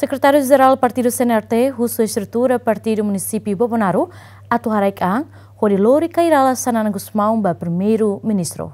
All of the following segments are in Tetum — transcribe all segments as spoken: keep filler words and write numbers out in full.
Sekretáriu Jerál Partidu C N R T husu estrutura partidu munisípiu Bobonaro atu haraik an hodi lori Kay Rala Xanana Gusmão ba Primeiru-Ministru.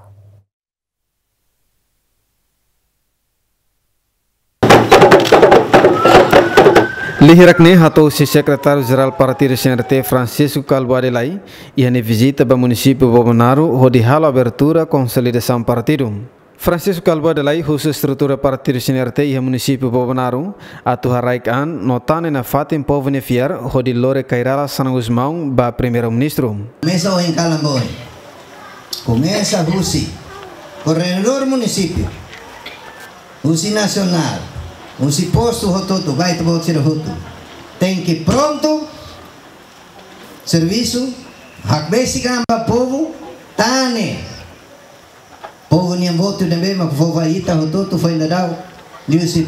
Liu hirak ne'e hato'o husi Sekretáriu Jerál Partidu C N R T, Francisco Calbuadi Lay, iha nia vizita ba munisípiu Bobonaro hodi halo abertura konsolidasaun partidu. Francisco Calbuadi Lay husu estrutura partidu C N R T iha munisípiu Bobonaro atu haraik an no tane nafatin povu nia fiar hodi lori Kay Rala Xanana Gusmão ba Primeiru-Ministru. Komesa ohin kalan ba oin. Komesa husi koordenadór munisípiu, husi nasionál, husi postu hotu-hotu, ba ita-boot sira hotu. Tenke prontu, servisu, hakbesik an ba povu, tane povu nian votu ne'ebé mak fó ba ita hotu-hotu foin daudaun, liuhusi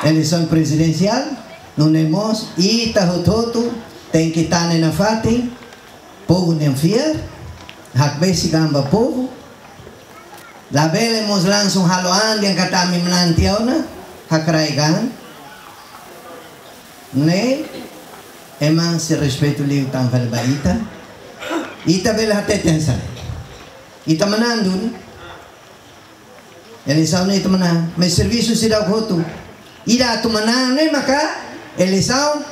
eleisaun prezidensiál, nune'e mós ita hotu-hotu tenke tane nafatin povu nian fiar, hakbesik an ba povu. Labele mós langsung halo an dehan katak ami manán tiha ona, hakraik an. Ne'e, ema sei respeitu liután fali ba ita. Ita bele hatete hanesan ne'e. Ita manán duni. Eleisaun ne'e ita manán. Maibé servisu seidauk hotu. Ida atu manán ne'e maka eleisaun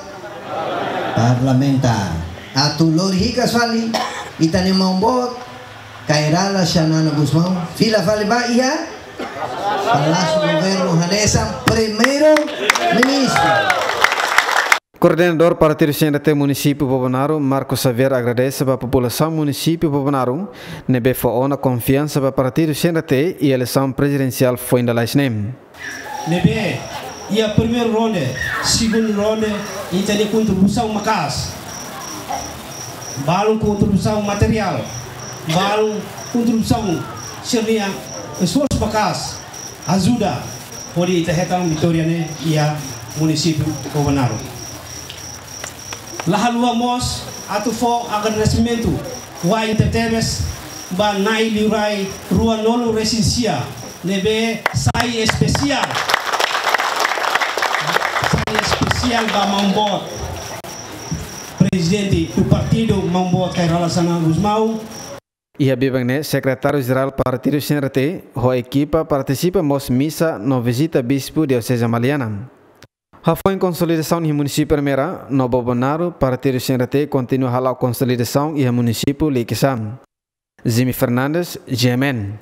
parlamentár. Atu lori hikas fali ita-nia maun-boot Kay Rala Xanana Gusmão fila fali ba iha Palásiu Governu hanesan Primeiru-Ministru. Koordenadór Partidu C N R T munisípiu Bobonaro, Marco Xavier, agradese ba populasaun munisípiu Bobonaro ne'ebé fó ona konfiansa ba Partidu C N R T iha eleisaun prezidensiál foin lalais ne'e. Ne'ebé iha primeiru ronde, segundu ronde, ita-nia kontribuisaun maka'as. Balun kontribuisaun materiál, balun kontribuisaun sira-nia esforsu maka'as, ajuda hodi ita hetan vitória ne'e iha munisípiu Bobonaro. La haluha mós atu fó agradesimentu wa'in tebetebes ba na'i liurai ruanulu-resin-sia ne'ebé sai espesiál. Sai espesiál ba maun-boot Prezidente do Partidu, maun-boot Kay Rala Xanana Gusmão. Iha biban ne'e, Sekretáriu Jerál Partidu C N R T ho ekipa partisipa mós misa no vizita Bispu Dioseze Maliana. Hafoin konsolidasaun iha munisípiu Ermera no Bobonaro, Partidu C N R T kontinua hala'o konsolidasaun iha munisípiu Likisá. Jimmy Fernandes, G M N.